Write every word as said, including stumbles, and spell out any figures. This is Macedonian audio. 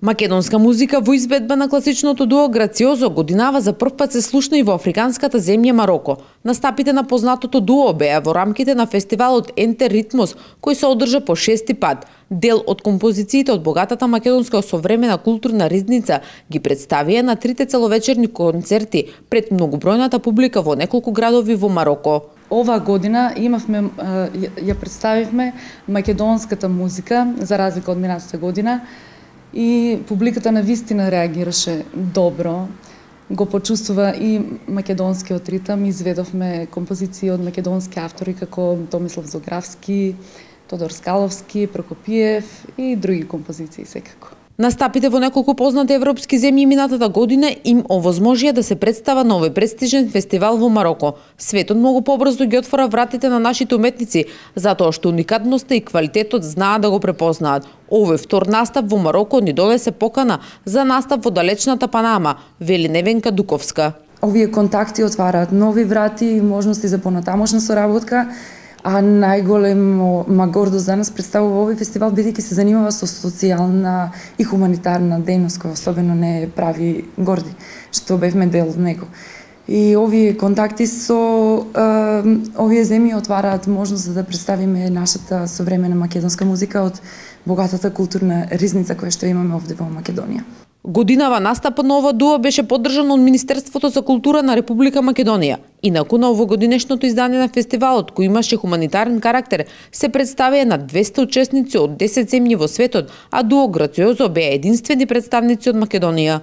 Македонска музика во изvedба на класичното дуо Грациозо годинава за прв пат се слушна и во африканската земја Мароко. Настапите на познатото дуо беа во рамките на фестивалот Ентер Ритмос, кој се одржа по шести пат. Дел од композициите од богатата македонска современа културна ризница ги представија на трите целовечерни концерти пред многобројната публика во неколку градови во Мароко. Ова година имавме, ја представивме македонската музика, за разлика од минатата година, и публиката на вистина реагираше добро. Го почувствува и македонскиот ритам, изведовме композиции од македонски автори како Томислав Зографски, Тодор Скаловски, Прокопиев и други композиции секако. Настапите во неколку познати европски земји минатата година им овозможија да се представа на овој престижен фестивал во Мароко. Светот многу побрзо ги отвора вратите на нашите уметници, затоа што уникатноста и квалитетот знаат да го препознаат. Овој втор настап во Мароко ни донесе покана за настап во далечната Панама, вели Невенка Дуковска. Овие контакти отвараат нови врати и можности за понатамошна соработка. А најголема гордост за нас представува овој фестивал, бидејќи се занимава со социјална и хуманитарна дејност, која особено не прави горди, што бевме дел од него. И овие контакти со е, овие земји отвараат можност за да представиме нашата современа македонска музика од богатата културна ризница која што имаме овде во Македонија. Годинава настапот на ова дуо беше поддржан од Министерството за култура на Република Македонија. Инаку на овогодинешното издание на фестивалот, кој имаше хуманитарен карактер, се представија на двесте учесници од десет земји во светот, а дуо Грациозо беа единствени представници од Македонија.